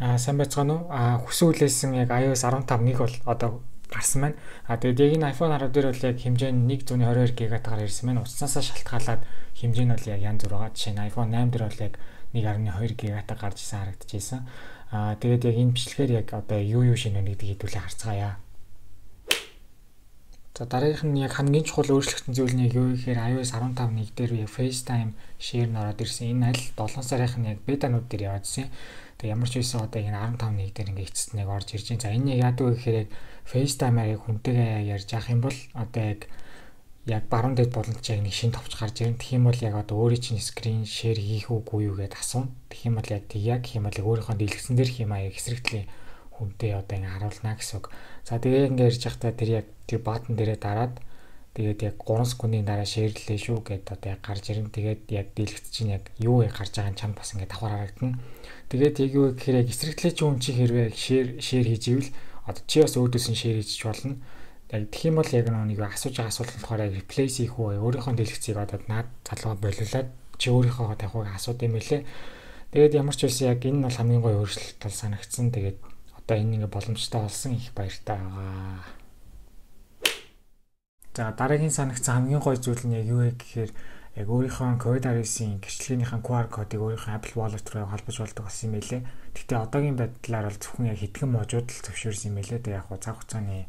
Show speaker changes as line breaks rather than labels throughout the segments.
Сайн байцгаана уу? Хүсэн хүлээсэн яг iOS 15.1 бол одоо гарсан байна. Тэгээд яг энэ iPhone 10 дээр бол яг хэмжээ нь 122 ГБ-аар ирсэн байна. Утаснасаа шалтгаалаад хэмжээ нь бол яг янз бүр байгаа. Жишээ нь iPhone 8 дээр бол яг 1.2 ГБ гарч ирсэн харагдчихсан. Тэгээд яг энэ бичлэгээр яг одоо юу шинэ байна гэдгийг хэдүүлээ харцгаая. За дараагийнх нь яг хамгийн чухал өөрчлөгдсөн зүйл нь юу гэхээр iOS 15.1 дээр яг FaceTime share нь ороод ирсэн. Энэ аль 7 сарынх нь яг бетанууд дээр яваадсэн. Тэг ямар ч байсан одоо энэ 15.1 дээр ингээ эцэст нэг орж ирж байна. За энэ яг яадаг вэ гэхээр яг FaceTime-аар яг хүнтэйгээ ярьж авах юм бол одоо яг баруун дэд болон ч яг нэг шинэ товч гарч ирэн. Тэгэх юм бол яг одоо өөрийн чинь screen share хийх үгүй юу гэдээ асууна. Тэгэх юм бол яг яг гэх юм бол өөрийнхөө дэлгэцэн дээр хийх юм аа эсрэгтлийн хүнтэй одоо ингээ харуулна гэсэн үг. За тэгээ ингээ ярьж байхдаа тэр яг тэр баттон дээрээ дараад тэгээд яг 3 секундын дараа шеэрлээ шүү гэдээ одоо яг гарч ирэн. Тэгээд яг дэлгэц чинь яг юу гарч байгаа нь чамд бас ингээ давхар харагдана. Тэгээд яг юу гэхээр яг эсрэгтлийн хүн чи хэрвээ шеэр хийж ивэл одоо чи бас өөдөөс нь шеэр хийж болно. Яг тэгэх юм бол яг нэг асууж байгаа асуулт нь болохоор яг replace хийх үү өөрийнхөө дэлгэцийг одоо наад залгаа болиулаад чи өөрийнхөө тавихыг асууд юм хэлээ. Тэгээд ямар ч байсан яг энэ бол хамгийн гоё өөрчлөлт бол санагдсан. Тэгээд одоо энэ ингээ боломжтой болсон их баяртай байгаа. За дараагийн санагдсан хамгийн гоё зүйл нь яг юу вэ гэхээр яг өөрийнхөө COVID-19-ийн гэрчлэгийнхээ QR кодыг өөрийнхөө Apple Wallet руу холбож болдог болсон юм байлээ. Гэхдээ одоогийн байдлаар бол зөвхөн яг хэдхэн можууд л зөвшөөрсөн юм байлээ. Тэгээ яг цаг хугацааны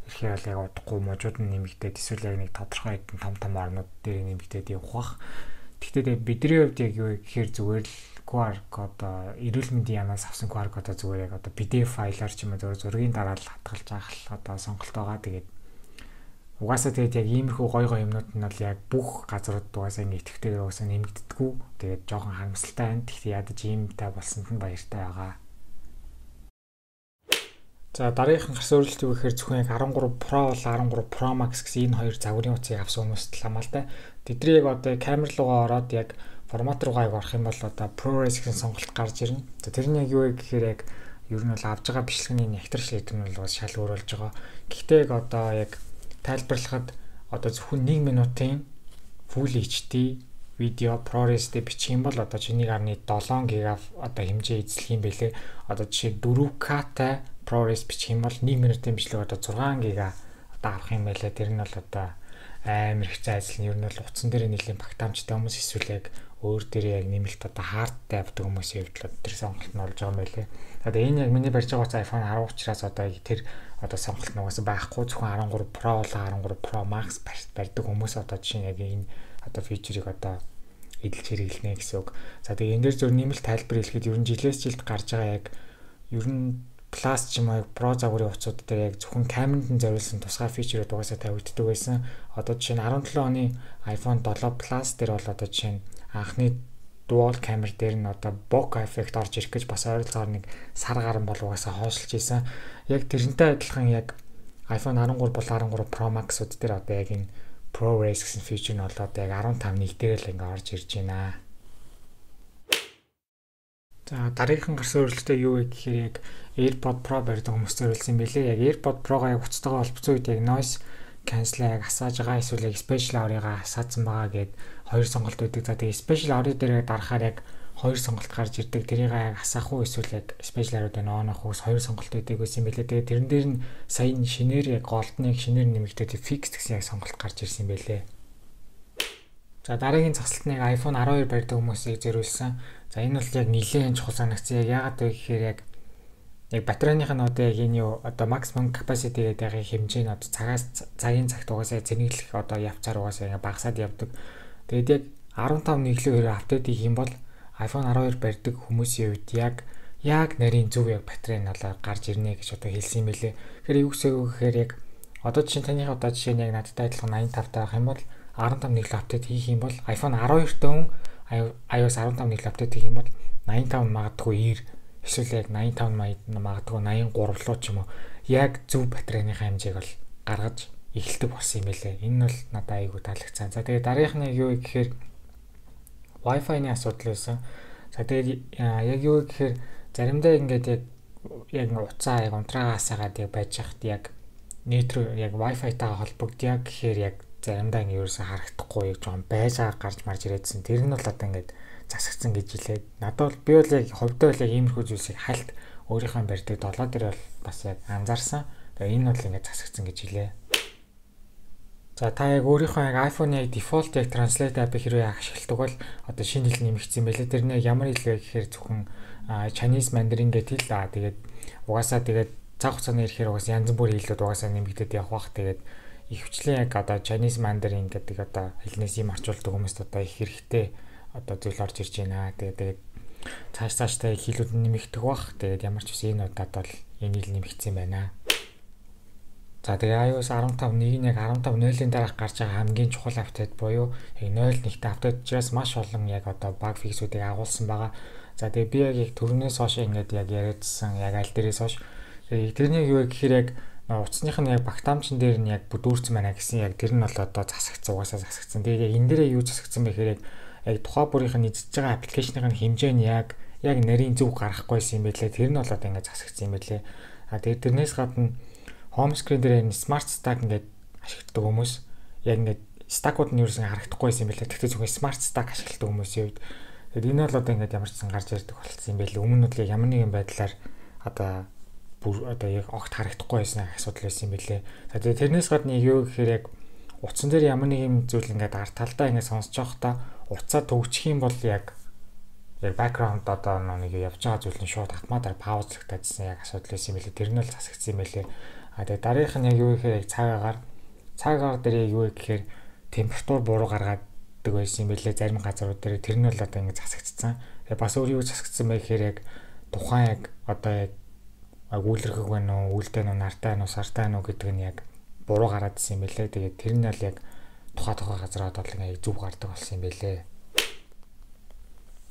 ихээр бол яг удахгүй можууд нь нэмэгдээд эсвэл яг нэг тодорхой хэдэн том орнууд дээр нэмэгдээд явах бах. Гэхдээ бидний хувьд яг юу гэхээр зүгээр л QR код эрүүл мэндийн янаас авсан QR кодоо зүгээр яг одоо PDF файлаар ч юм уу зургийн дараа л хадгалж авах одоо сонголт байгаа. Тэгээд угаасаа тэгээд яг иймэрхүү гоё юмнууд нь бол яг бүх газрууд угаасаа ингэ идэвхтэйгээр угаасаа нэмэгддэггүй. Тэгээд жоохон харамсалтай байна. Гэхдээ ядаж иймтэй болсонд нь баяртай байгаа. За дараагийнх нь гарсан өөрчлөлт юу гэхээр зөвхөн яг 13 Pro бол 13 Pro Max гэсэн энэ хоёр загварын утсыг авсан хүмүүст л хамаалтай. Тэдний яг одоо камер руугаа ороод яг формат руугаа орох юм бол одоо ProRes гэсэн сонголт гарч ирнэ. За тэр нь яг юу вэ гэхээр яг ер нь бол авж байгаа бичлэгийн нэгтрэл шийдвэр нь бол шал өөр болж байгаа. Гэхдээ яг одоо яг тайлбарлахад одоо зөвхөн 1 минутын Full HD видео ProRes дээр бичих юм бол одоо 1.7 ГБ одоо хэмжээ эзлэх юм бэлээ. Одоо жишээ 4K-тай ProRes бичих юм бол 1 минутын бичлэг одоо 6 ГБ одоо авах юм байлаа. Тэр нь бол одоо амар их зайлсхийх нь ер нь бол утсан дээр нэлийн багтаамжтай хүмүүс эсвэл яг өөр дээр яг нэмэлт одоо хардтай авдаг хүмүүсийн хувьд тэр сонголт нь болж байгаа юм байлээ. Одоо энэ яг миний барьж байгаа iPhone 10 учраас одоо тэр одоо сонголт нь угаасаа байхгүй зөвхөн 13 Pro болон 13 Pro Max барьдаг хүмүүс одоо жишээ нь яг энэ одоо фичерийг одоо эдэлж хэрэглэнэ гэсэн үг. За тэгээ энэ дээр зөв нэмэлт тайлбар хэлэхэд ер нь жилээс жилд гарч байгаа яг ер нь Plus ч юм уу Pro загварын утсууд дээр яг зөвхөн камеранд нь зориулсан тусгай фичерүүд угаасаа тавигддаг байсан. Одоо жишээ нь 17 оны iPhone 7 Plus дээр бол одоо жишээ нь анхны dual camera дээр нь одоо bokeh effect орж ирэх гэж бас ойролцоогоор нэг сар гарan бол угаасаа хойшлж ийсэн. Яг тэрнтэй адилхан яг iPhone 13 бол 13 Pro Max-ууд дээр одоо яг энэ ProRes гэсэн фичер нь бол одоо яг 15.1 дээр л ингээ орж ирж байна. За дараагийнхан гарсан өөрчлөлтөө юу вэ гэхээр яг AirPod Pro барьдаг хүмүүс зориулсан юм билээ. Яг AirPod Pro-га яг уцтайгаа холбоцсон үед яг noise cancel-ыг асааж байгаа эсвэл яг special hour-ыг асаацсан байгаа гэд хоёр сонголт өгдөг. За тэгээ special hour дээр дарахаар яг хоёр сонголт гарч ирдэг. Тэрийг яг асаах уу эсвэл яг special hour-ыг on авах уу хоёр сонголт өгдөг байсан юм билээ. Тэгээ тэрэн дээр нь сая шинээр яг голдныг шинээр нэмэгдээд fix гэсэн яг сонголт гарч ирсэн юм билээ. За дараагийн засалтныг iPhone 12 барьдаг хүмүүсийг зориулсан. За энэ бол яг нэлээд чухал санагдсан. Яг яагаад вэ гэхээр яг батарейных нь одоо яг энэ юу одоо maximum capacity гэдэг хэмжээ нь одоо цагийн цагт угаасаа зэнэглэх одоо явцаар угаасаа ингээ багасаад явдаг. Тэгээд яг 15 нэглээ апдейт хийх юм бол iPhone 12 барьдаг хүмүүсийн хувьд яг нарийн зөв яг батарей нь болоо гарч ирнэ гэж одоо хэлсэн юм билээ. Тэгэхээр юу гэхээр яг одоо жишээ таны одоо жишээ нь яг надтай адилхан 85 таах юм бол 15 нэглээ апдейт хийх юм бол iPhone 12 төн iOS 15 нэглээ апдейт хийх юм бол 85 магадгүй 90 эсвэл яг 85 магадгүй 83 руу ч юм уу яг зөв батарейны хэмжээг бол гаргаж эхэлдэг болсон юм байлээ. Энэ бол надад айгүй таалагдсан. За тэгээ дараагийнх нь юу гэхээр Wi-Fi-ны асуудал байсан. За тэгээ яг юу гэхээр заримдаа ингээд яг уцаа яг унтраагаа асаагаад яг байж хахад яг нийт рүү яг Wi-Fi-тайгаа холбогдъё гэхээр яг заримдаа ингэ ерөөсө харагдахгүй яг жоон байжгаа гарч марж ирээдсэн. Тэр нь бол одоо ингээд засагдсан гэж хэлээд надад бол би бол яг хувьдаа бол яг иймэрхүү зүйлсийг хальт өөрийнхөө барьдаг 7 дээр бол бас яг анзаарсан. Тэгээ энэ бол ингээд засагдсан гэж хэлээ. За та яг өөрийнхөө яг iPhone-ы яг default яг translate app-ыг хэрвээ ашигладаг бол одоо шинэ хэл нэмэгдсэн байлээ. Тэр нэг ямар хэл вэ гэхээр зөвхөн Chinese Mandarin гэдэг л тэгээд угаасаа тэгээд цаг хугацааны ирэхээр угаасаа янз бүрийн хэлүүд угаасаа нэмэгдээд явах бах. Тэгээд ихвчлэн яг одоо Chinese Mandarin гэдэг одоо хэлнээс юм орчуулдаг хүмүүст одоо их хэрэгтэй одоо зүйл орж ирж байна. Тэгээд цаашдаа хэлүүд нэмэгдэх бах. Тэгээд ямар ч үс энэ удаад бол энэ хэл нэмэгдсэн байна. За тэгээ iOS 15.1-ийг яг 15.0-ийн дараах гарч байгаа хамгийн чухал апдейт буюу яг 0.1-т апдейт учраас маш олон яг одоо баг фиксүүдийг агуулсан байгаа. За тэгээ би яг түрүүнээс хойш ингээд яг яриадсан яг аль дээрээс хойш тэрний юу гэхээр яг утасных нь яг багтаамжн дээр нь яг бүдүүрсэн байна гэсэн яг тэр нь бол одоо засагдсан угаасаа засагдсан. Тэгээ яг энэ дээрээ юу засагдсан бэ гэхээр яг тухайн бүрийнх нь эзэж байгаа аппликейшнийг хэмжээ нь яг нарийн зөв гарахгүйсэн юм байлээ. Тэр нь бол одоо ингээд засагдсан юм байлээ. А тэгээ тэрнээс гадна home screen дээр энэ smart stack ингээд ашигладаг хүмүүс яг ингээд stack-ууд нь ерөөсөн харагдахгүйсэн юм байлээ. Тэгтээ зөвхөн smart stack ашигладаг хүмүүсийн үед тэгээд энэ бол одоо ингээд ямар ч сан гарч ирдэг болчихсон юм байлээ. Өмнө нь л ямар нэгэн байдлаар одоо яг огт харагдахгүй байсан асуудал байсан юм билээ. За тэгээ тэрнээс гадна юу гэхээр яг утсан дээр ямар нэг юм зүйл ингээд ард талдаа ингээд сонсож байхдаа утсаа төгжих юм бол яг background одоо нэг явж байгаа зүйл нь шууд автоматар паузлагдчихсан яг асуудал байсан юм билээ. Тэр нь л засагдсан юм билээ. А тэгээ дараагийнх нь яг юу гэхээр яг цагаагаар дээр яг юу гэхээр температур буруу гаргадаг байсан юм билээ. Зарим газрууд дээр тэр нь л одоо ингээд засагдсан. Тэгээ бас өөр юу засагдсан бэ гэхээр яг тухайн яг одоо яг үүлэрхэг байна уу, үүлдэн уу, нартай байна уу, сартай байна уу гэдэг нь яг буруу гараад ирсэн юм билээ. Тэгээд тэр нь л яг тухайн газраад бол ингээд зөв гардаг болсон юм билээ.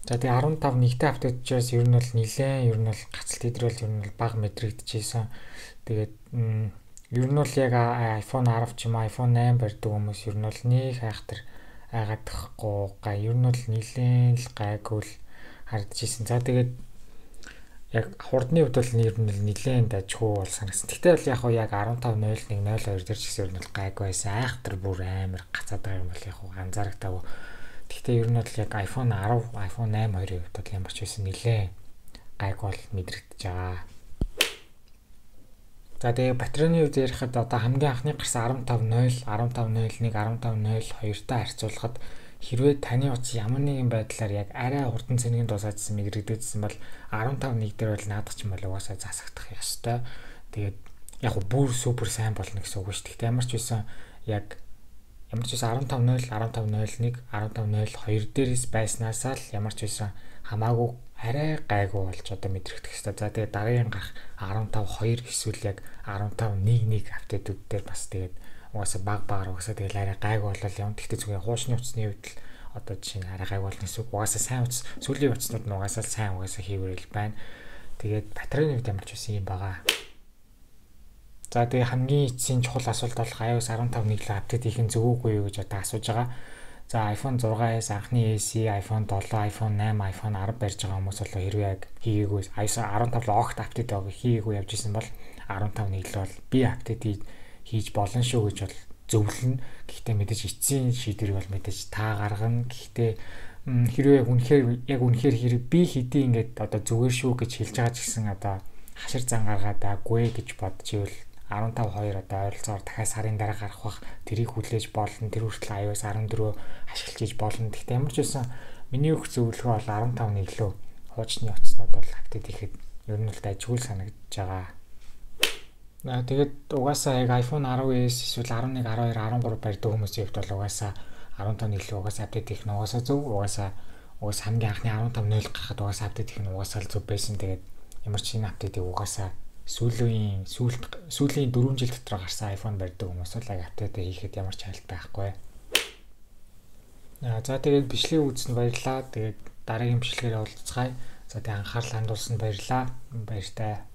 За тэгээ 15.1-т апдейт учраас ер нь бол нилээн гацалт идрэл ер нь бол бага мэдрэгдэжсэн. Тэгээд ер нь бол яг iPhone 10 ч юм iPhone 8 барьдаг хүмүүс ер нь бол нэг хайхтар айгаадахгүй ер нь бол нилээн л гайгүй л харагдажсэн. За тэгээд яг хурдны хувьд бол ер нь нилээн дажгүй бол санагдсан. Тэгтээ бол яг 15.01.02 дээр ч гэсэн ер нь бол гайгүй байсан. Айхтар бүр амар гацаад байгаа юм бол яг анзаарагдаагүй. Тэгтээ ер нь бол яг iPhone 10, iPhone 8 хоёрын хувьд бол ямар ч байсан нилээн гайгүй бол мэдрэгдэж байгаа. За тэгээ батарейны хувьд ярихад одоо хамгийн анхны гарсан 15.0, 15.01, 15.02-тай харьцуулахад хэрвээ таны утас ямар нэгэн байдлаар яг арай хурдан цэнгийн дуусаадсан мэдрэгдээдсэн бол 15.1 дээр бол наадах ч юм бол угаасаа засагдах ёстой. Тэгээд яг бүр супер сайн болно гэсэн үг шүү. Тэгтээ ямар ч байсан 15.0, 15.01, 15.02 дээрээс байснаас л ямар ч байсан хамаагүй арай гайгүй болж одоо мэдрэгдэх хэрэгтэй. За тэгээд дараагийн гарах 15.2 эсвэл яг 15.1 апдейтүүд дээр бас тэгээд угаасаа багаар угаасаа тэгээд арай гайгүй болол юм. Тэгтээ зүгээр хуучны утасны үед л одоо жишээ нь арай гайгүй болно гэсэн үг. Угаасаа сайн утас сүүлийн утаснууд нь угаасаа сайн хийвэрэл байна. Тэгээд батарейны үед ямар ч байсан юм байгаа. За тэгээ хамгийн эцсийн чухал асуулт бол iOS 15.1 апдейт хийх нь зөв үгүй юу гэж одоо асууж байгаа. За iPhone 6s, анхны SE, iPhone 7, iPhone 8, iPhone 10 барьж байгаа хүмүүс бол хэрвээ яг хийгээгүй iOS 15 огт апдейт хийгээгүй явж исэн бол 15.1 л бол би апдейт хийж болно шүү гэж бол зөвлөнө. Гэхдээ мэдээж эцсийн шийдвэрийг бол мэдээж та гаргана. Гэхдээ хэрвээ яг үнэхээр хэрэг би хэдий ингээд одоо зүгээр шүү гэж хэлж байгаа ч гэсэн одоо хашир зан гаргаад аггүй гэж бодож ивэл 15.2 одоо ойролцоогоор дахиад сарын дараа гарах бах тэрийг хүлээж болно. Тэр хүртэл iOS 14 ашиглаж хийж болно. Гэхдээ ямар ч байсан миний өгөх зөвлөгөө бол 15.1 лөө хуучны утаснууд бол апдейт хийхэд ер нь л дайггүй санагдаж байгаа. Тэгээд угаасаа яг iPhone 10s эсвэл 11, 12, 13 барьдаг хүмүүсийн хувьд бол угаасаа 15.1 лөө угаасаа апдейт хийх нь угаасаа зөв. Угаасаа хамгийн анхны 15.0 гарахад угаасаа апдейт хийх нь угаасаа л зөв байсан. Тэгээд ямар ч энэ апдейтыг угаасаа сүүлийн 4 жил дотор гарсан iPhone барьдаг хүмүүс бол яг апдейт хийхэд ямар ч хайлт байхгүй. За тэгээд бичлэг үзсэнд баярлалаа. Тэгээд дараагийн бичлэгээр уулзцгаая. За тэгээд анхаарал хандуулсанд баярлалаа. Баяртай.